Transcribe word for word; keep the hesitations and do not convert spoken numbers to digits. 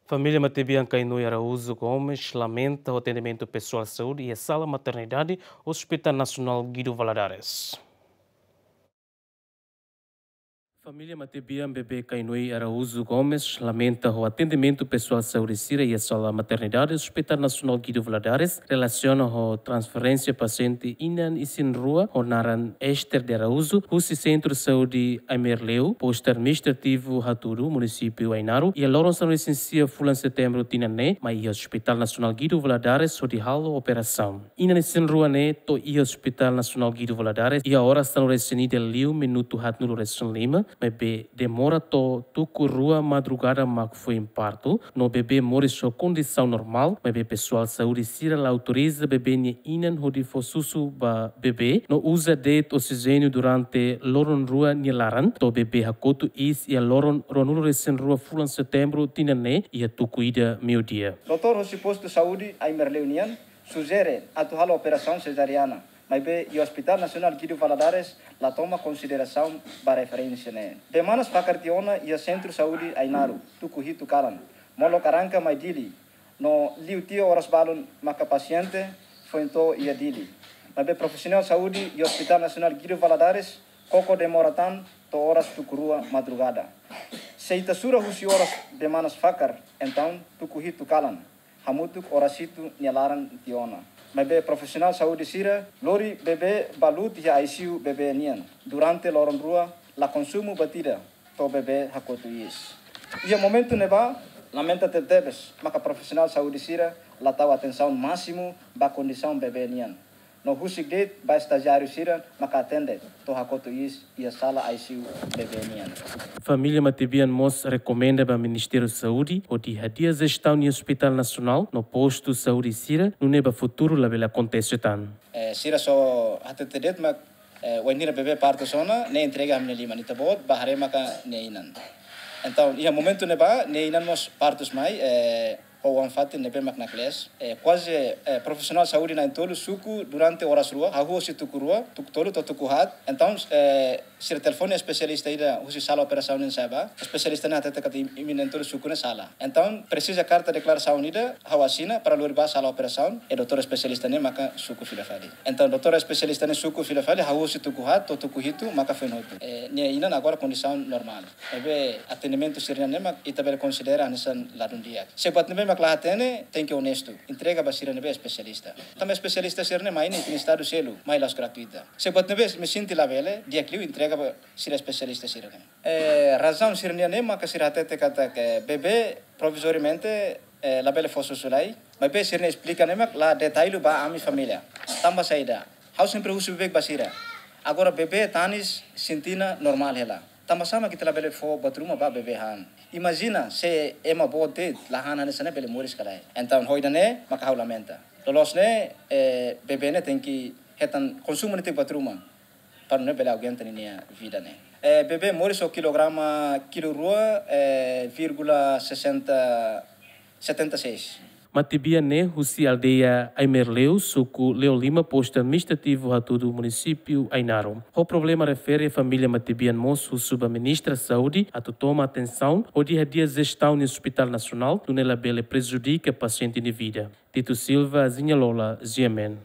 Família matebian Kainui Araújo Gomes lamenta ho atendimentu pesoál saúde iha sala maternidade Hospital Nasionál Guido Valadares. Família matebian bebé Kainui Araújo Gomes lamenta ho atendimentu pesoál saúde sira iha sala maternidade Hospital Nasionál Guido Valadares relasiona ho transferénsia pasiente inan isin-rua ho naran Esther de Araújo husi Sentru Saúde Aimarleus, Postu Administrativu Hatudu, Munisípiu Ainaro, iha loron sanulu-resin-sia fulan Setembru tinan ne'e, mai iha Hospital Nasionál Guido Valadares hodi halo operasaun. Inan isin-rua ne'e to'o iha Hospital Nasionál Guido Valadares iha oras sanulu-resin-ida liu minutu haatnulu-resin-lima, maibé demora to'o tuku rua madrugada mak foin partu, no bebé moris ho kondisaun normál, maibé pesoál saúde sira la autoriza bebé nia inan hodi fó susu ba bebé, no uza de'it oksijéniu durante loron rua nia laran, to'o bebé hakotu iis iha loron ruanulu-resin-rua fulan Setembru tinan ne'e iha tuku ida meiudia. Doutór husi Postu Saúde Aimarleus nian sujere atu halo operasaun sezariana, maibé iha Hospital Nasionál Guido Valadares la toma konsiderasaun ba referénsia ne'e. Bee manas fakar tiha ona iha Sentru Saúde Ainaro, tuku hitu kalan, molok arranka mai Dili, no liu tiha oras balun maka pasiente foin to'o iha Dili. Maibé profisionál saúde iha Hospital Nasionál Guido Valadares koko demora tan to'o oras tuku rua madrugada. Se ita sura husi oras bee manas fakar, entaun tuku hitu kalan, hamutuk oras hitu nia laran tiha ona. Maibé profisionál saúde sira lori bebé ba luut iha I C U bebé nian durante loron rua, la konsumu buat ida to'o bebé hakotu iis. Iha momentu ne'ebá, lamenta tebetebes maka profisionál saúde sira la tau atensaun másimu ba kondisaun bebé nian. No husik de'it ba estajiáriu sira maka atende to'o hakotu iis iha sala I C U bebé nian. Família matebian mós rekomenda ba Ministériu Saúde hodi hadi'a jestaun iha Hospital Nasionál no postu saúde sira, nune'e ba futuru labele akontese tan. Eh, sira só hatete de'it mak, eh, wainhira bebé partu ona, ne'e entrega ami-nia liman, ita-boot bá haree maka nia inan. Entaun, iha momentu ne'ebá, nia inan mós partu mai, eh, ho oan-fatin ne'ebé mak naklees. Eh, kuaze, eh, profisionál saúde na'in-tolu suku durante oras rua, hahú husi tuku rua, tuku tolu to'o tuku haat. Entaun, eh, sira telefone espesialista ida husi sala operasaun nian sa'e bá. Espesialista ne'e hatete katak im-, imi na'in-tolu suku ne'e sala. Entaun, presiza karta deklarasaun ida, ha'u asina, para lori bá sala operasaun, e doutór espesialista ne'e maka suku fila fali. Entaun, doutór espesialista ne'e suku fila fali, hahú husi tuku haat to'o tuku hitu, maka foin hotu. Eh, nia inan agora kondisaun normál. Maibé atendimentu sira-ne'e mak ita bele konsidera hanesan ladún di'ak. Se buat ne'ebé mak la hatene, tenke onestu. Entrega ba sira ne'ebé espesialista. Tanba espesialista sira-ne'e mai ne'e iha estadu seluk, mai la'ós gratuita. Se buat ne'ebé imi sente labele, di'ak liu entrega ba sira espesialista sira-ne'e. Eh, razaun sira-nian ne'e maka sira hatete katak bebé provizoriamente, eh, labele fó susu lai, maibé sira-nia esplika ne'e mak la detalle ba ami família. Tanba saida? Ha'u sempre husu beibeik ba sira. Agora bebé tanis sente ona normál hela. Tanba sá mak ita labele fó buat ruma ba bebé han? Imajina se ema boot de'it la han hanesan ne'e bele moris ka lae. Entaun ho ida-ne'e maka ha'u lamenta. Loloos ne'e, eh, bebé ne'e tenke hetan konsumu netik buat ruma para nune'e bele aguenta ninia vida ne'e. Eh, bebé moris ho kilograma kilu rua, eh, vírgula sessenta, setenta e seis. Matebian ne'e husi aldeia Aimarleus, suku Leolima, postu administrativu Hatudu, munisípiu Ainaro. Ho problema refere, família matebian mós husu ba Ministra Saúde atu toma atensaun hodi hadi'a jestaun iha Hospital Nasionál, nune'e labele prejudika pasiente nia vida. Tito Silva, Zinha Lola, G M N.